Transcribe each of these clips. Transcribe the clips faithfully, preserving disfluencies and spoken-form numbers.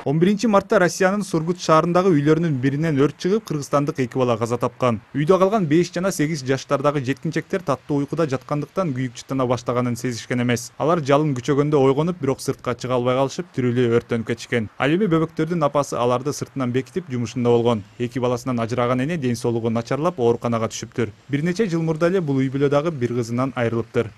он биринчи мартта Россиянын Сургут шаарындагы үйлөрүнүн биринен өрт чыгып, кыргызстандык эки бала каза тапкан. Үйдө калган беш жана сегиз жаштардагы жеткинчектер таттуу уйкуда жаткандыктан күйүк чытына баштаганын сезишкен эмес. Алар жалын күчөгөндө ойгонуп, бирок сыртка чыга албай калышып, тирүүлүү өрттөнүп кетишкен. Ал эми бөбөктөрдүн апасы аларды сыртынан бекитип жумушунда болгон. Эки баласынан ажыраган эне ден соолугу начарлап, ооруканага түшүптүр. Бир нече жыл мурда эле бул үй бүлөдөгү бир кызынан айрылыптыр.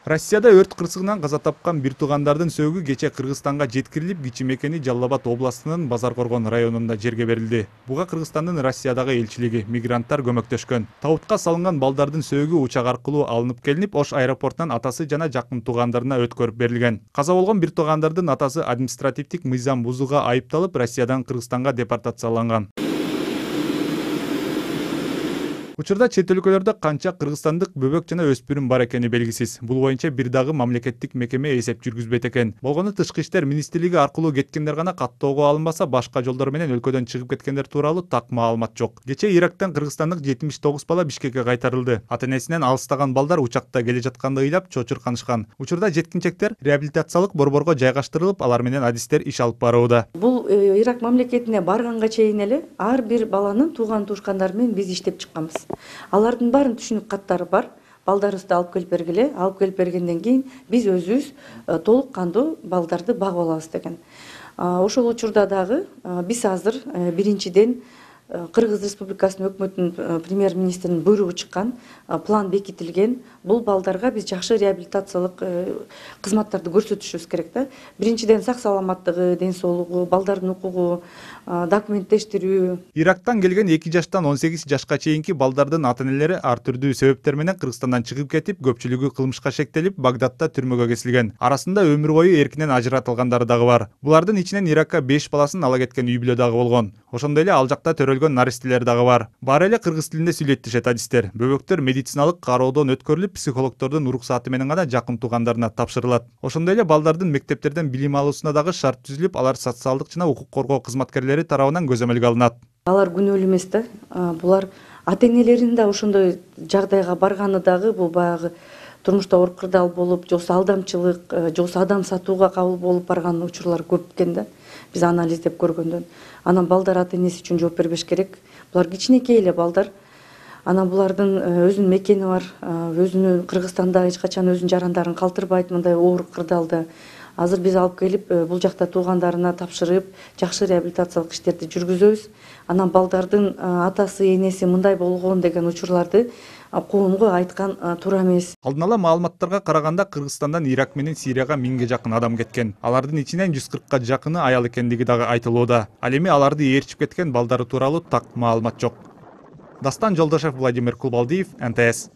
Россияда өрт кырсыгынан каза тапкан бир туугандардын сөөгү кече Кыргызстанга жеткирилип, кичи мекени Жалал Абад областынын Базаркоргон районунда жерге берилди. Буга Кыргызстандын Россиядагы элчилиги, мигранттар көмөктөшкөн. Табутка салынган балдардын сөөгү учак аркылуу алынып келинип, Ош аэропортунан атасы жана жакын туугандарына өткөрүп берилген. Каза болгон бир туугандардын атасы административдик мыйзам бузууга айыпталып, Россиядан Кыргызстанга депортацияланган. Учурда чет өлкөлөрдө канча кыргызстандык бөбөк жана өспүрүм бар экени белгисиз. Бул боюнча бир дагы мамлекеттик мекеме эсеп жүргүзбөйт экен. Болгону Тышкы иштер министрлиги аркылуу кеткендер гана каттоого алынбаса, башка жолдор менен өлкөдөн чыгып кеткендер тууралуу так маалымат жок. Кече Ирактан кыргызстандык жетимиш тогуз бала Бишкекке кайтарылды. Ата-энесинен алыстаган балдар учакта келе жатканды ыйлап чочурканышкан. Учурда жеткинчектер реабилитациялык борборго жайгаштырылып, алар менен адистер иш алып барууда. Бул Ирак мамлекетине барганга чейин эле ар бир баланын тууган туушкандары менен биз иштеп чыкканбыз. Алардын баарын түшүнүк каттары бар. Балдарыбызды алып келип бергиле, алып келип бергенден кийин биз өзүбүз толук кандуу балдарды багып алабыз деген. Ошол учурда дагы биз азыр биринчиден Кыргыз Республикасынын өкмөтүнүн премьер-министринин буйругу чыккан, план бекитилген. Бул балдарга биз жакшы реабилитациялык кызматтарды көрсөтүшүбүз керек да. Биринчиден сак саламаттыгы, ден соолугу, балдардын укугу, документтештирүү. Ирактан келген эки жаштан он сегиз жашка чейинки балдардын ата-энелери ар түрдүү себептер менен Кыргызстандан чыгып кетип, көпчүлүгү кылмышка шектелип, Багдадта түрмөгө кесилген. Арасында өмүр бою эркинен ажыратылгандары дагы бар. Булардын ичинен Иракка беш баласын ала кеткен үй бүлө дагы болгон. Ошондой эле ал жакта төрөлгөн наристелер дагы бар. Баары эле кыргыз тилинде сүйлөйт дешет адистер. Бөбөктөр медициналык кароодон өткөрүлүп, психологдордун уруксааты менен гана жакын туугандарына тапшырылат. Ошондой эле балдардын мектептерден билим алуусуна дагы шарт түзүлүп, алар социалдык жана укук коргоо кызматкерлери тарабынан көзөмөлгө алынат. Алар күнөөлүү эмес да. Булар ата-энелеринин да ошондой жагдайга барганы дагы бул баягы турмушта оор кырдаал болуп, же болбосо алдамчылык, же болбосо адам сатууга кабыл болуп барган учурлар көп экен да. Биз анализдеп көргөндөн. Анан балдар ата-энеси үчүн жооп бербеш керек. Булар кичинекей эле балдар. Анан булардын өзүнүн мекени бар, өзүнүн Кыргызстанда эч качан өзүнүн жарандарын калтырбайт мындай оор кырдаалда. Азыр биз алып келип, бул жакта туугандарына тапшырып, жакшы реабилитациялык иштерди жүргүзөбүз. Анан балдардын атасы, энеси мындай болгон деген учурларды коомго айткан туура эмес. Алдын ала маалыматтарга караганда Кыргызстандан Ирак менен Сирияга миңге жакын адам кеткен. Алардын ичинен жүз кыркка жакыны аял экендиги дагы айтылууда. Ал эми аларды ээрчип кеткен балдары тууралуу так маалымат жок. Дастан Жолдошев, Владимир Кулбалдиев, эн тэ эс.